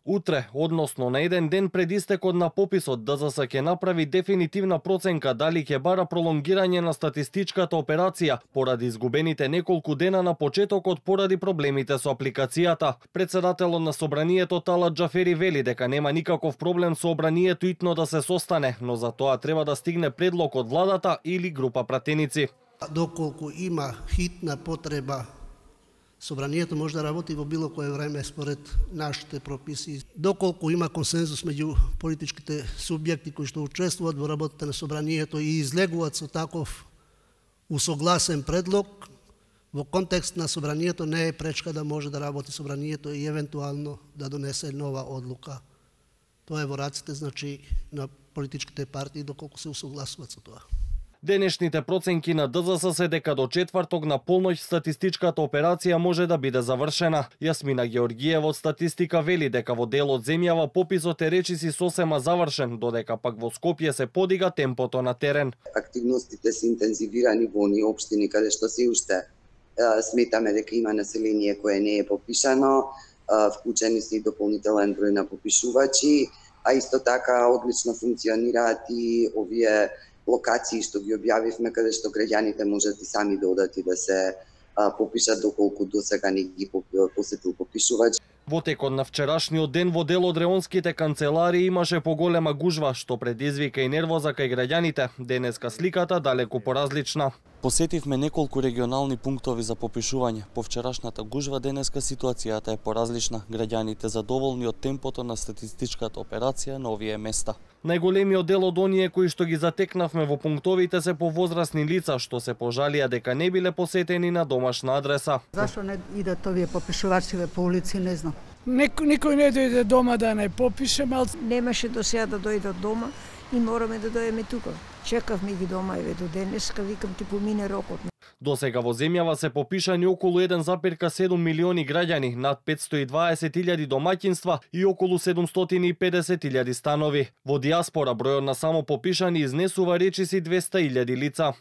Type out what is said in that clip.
Утре, односно на еден ден пред истекот на пописот, ДЗС ќе направи дефинитивна проценка дали ќе бара пролонгирање на статистичката операција поради изгубените неколку дена на почетокот поради проблемите со апликацијата. Председателот на Собранието Талат Џафери вели дека нема никаков проблем Собранието итно да се состане, но за тоа треба да стигне предлог од владата или група пратеници. Доколку има хитна потреба, Собранието може да работи во било кое време според нашите прописи. Доколку има консензус меѓу политичките субјекти кои што учествуваат во работата на Собранието и излегуваат со таков усогласен предлог, во контекст на Собранието не е пречка да може да работи Собранието и евентуално да донесе нова одлука. Тоа е во раците, значи, на политичките партии доколку се усогласуваат со тоа. Денешните проценки на ДЗС се дека до четврток на полноќ статистичката операција може да биде завршена. Јасмина Георгиева од статистика вели дека во дел од земјава пописот е речиси сосема завршен, додека пак во Скопје се подига темпото на терен. Активностите се интензивирани во оние општини каде што се уште сметаме дека има население кое не е попишано, вклучени се и дополнителен број на попишувачи, а исто така одлично функционираат и овие локации што ги објавивме, каде што граѓаните можат и сами да одат и да се попишат доколку досега не ги посетил попишувач. Во текот на вчерашниот ден во дел од реонските канцеларии имаше поголема гужва, што предизвика и нервоза кај граѓаните. Денеска сликата далеку поразлична. Посетивме неколку регионални пунктови за попишување. По вчерашната гужва денеска ситуацијата е поразлична. Граѓаните задоволни од темпото на статистичката операција на овие места. Најголемиот дел од оние кои што ги затекнавме во пунктовите се повозрасни лица што се пожалија дека не биле посетени на домашна адреса. Зашто не идат овие попишувачи по улици, не знам. Никој не дојде дома да не попише, мал Немаше до сега да дојдат дома и мораме да дојдеме тука. Чекавме ги дома, еве до денеска, викам ти помине рокот. До сега во земјава се попишани околу 1,7 милиони граѓани, над 520.000 домаќинства и околу 750.000 станови. Во дијаспора бројот на само попишани изнесува речиси 200.000 лица.